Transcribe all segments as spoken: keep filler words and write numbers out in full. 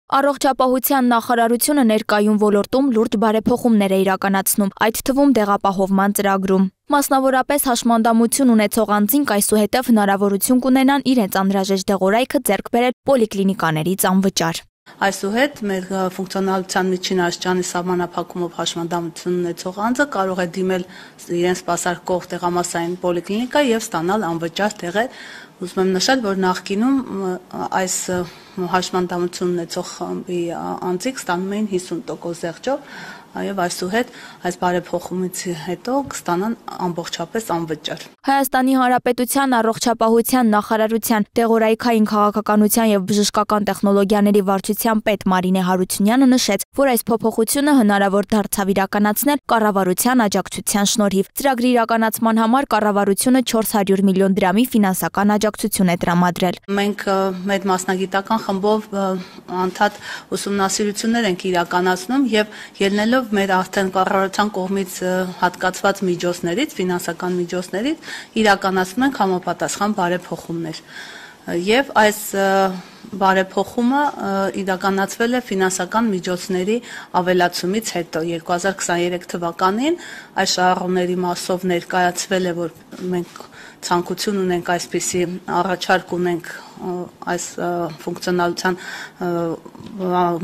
Առողջապահության նախարարությունը ներկայում ոլորտում լուրջ բարեփոխումներ է իրականացնում, այդ թվում դեղապահովման ծրագրում։ Մասնավորապես հաշմանդամություն ունեցող անձինք այսուհետև հնարավորություն կունենան իրենց անհրաժեշտ դեղորայքը ձեռք բերել պոլիկլինիկաներից անվճար։ Այսուհետ մեր ֆունկցիոնալության միջին աստիճանի սահմանափակումով հաշմանդամություն ունեցող անձը կարող է դիմել իրեն սպասարկող տեղամասային պոլիկլինիկա եւ ստանալ անվճար տեղեր։ Ուզում եմ նշել, որ նախկինում այս հաշմանդամություն ունեցող անձիկ ստանում էին հիսուն տոկոս զեղչով, եւ այսուհետ այս բարեփոխումից հետո կստանան ամբողջապես անվճար։ Հայաստանի Հանրապետության առողջապահության նախարարության դեղորայքային քաղաքականության եւ բժշկական տեխնոլոգիաների վարչության պետ Մարինե Հարությունյանը նշեց, որ այս փոփոխությունը հնարավոր դարձավ իրականացնել կառավարության աջակցության շնորհիվ։ Ծրագրի իրականացման համար կառավարությունը չորս հարյուր միլիոն դրամի ֆինանսական աջակցություն է տրամադրել։ Մենք մեր մասնագիտական խմբով անդադ ուսումնասիրություններ ենք իրականացնում եւ ելնելով մեր արդեն կառավարության կողմից հատկացված միջոցներից, ֆինանսական միջոցներից իրականացնում ենք համապատասխան բարեփոխումներ։ Եվ այս բարեփոխումը իրականացվել է ֆինանսական միջոցների ավելացումից հետո երկու հազար քսաներեք թվականին այս շահառուների մասով ներկայացվել է, որ մենք ցանկություն ունենք այսպիսի առաջարկ ունենք այս ֆունկցիոնալության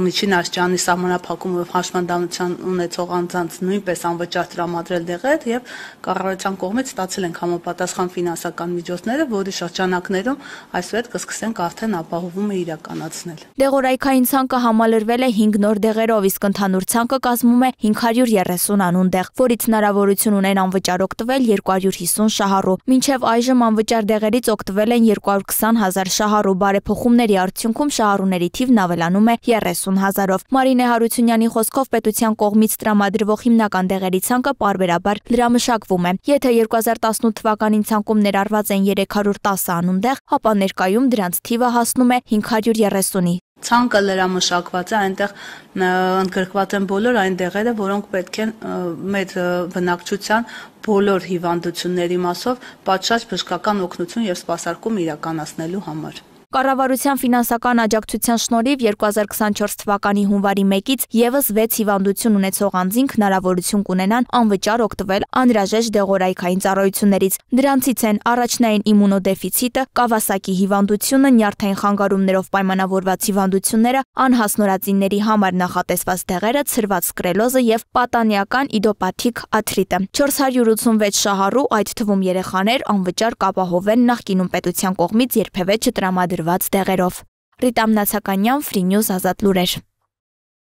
միջին աստիճանի սահմանափակումով հաշմանդամություն ունեցող անձանց նույնպես անվճար տրամադրել դեղեր եւ կառավարության կողմից ստացել ենք համապատասխան ֆինանսական միջոցները, որի շրջանակներում այսուհետ կսկսենք արդեն ապահովումը իրականացնել։ Դեղորայքային ցանկը համալրվել է հինգ նոր դեղերով, իսկ ընդհանուր ցանկը կազմում է հինգ հարյուր երեսուն անուն դեղ, որից հնարավորություն ունեն անվճար օգտվել երկու հարյուր հիսուն շահառու։ Մինչև այժմ անվճար դեղերից օգտվել են երկու հարյուր քսան հազար շահառու, բարեփոխումների արդյունքում շահառուների թիվն ավելանում է երեսուն հազարով։ Մարինե Հարությունյանի խոսքով պետության կողմից տրամադրվող հիմնական դեղերի ցանկը պարբերաբար լրամշակվում է։ Եթե երկու հազար տասնութ թվականին ցանկում ներառված են երեք հարյուր տասը անուն դեղ, ապա ներկայում դրանց թիվը հասնում է հինգ հարյուր երեսունի։ Ցանկը լրամշակված է, այնտեղ ընդգրկված են բոլոր այն դեղերը, որոնք պետք են մեր բնակչության բոլոր հիվանդությունների մասով պատշաճ բժշկական օգնություն եւ սպասարկում իրականացնելու համար։ Կառավարության ֆինանսական աջակցության շնորհիվ երկու հազար քսանչորս թվականի հունվարի մեկից եւս վեց հիվանդություն ունեցող անձինք հնարավորություն կունենան անվճար օգտվել անհրաժեշտ դեղորայքային ծառայություններից։ Դրանցից են առաջնային իմունոդեֆիցիտը, Կավասակի հիվանդությունը, նյարդային խանգարումներով պայմանավորված հիվանդությունները, անհասնորածինների համար նախատեսված դեղերը, ցրված սկրելոզը եւ պատանեական իդոպաթիկ աթրիտը։ չորս հարյուր ութսունվեց շահառու, այդ թվում երեխաներ, անվճար կապահովեն նախկինում պետության կողմից երբևէ չտրամադրված դեղերով։ Ռիտա Մնացականյան, Free News, Ազատ լուրեր։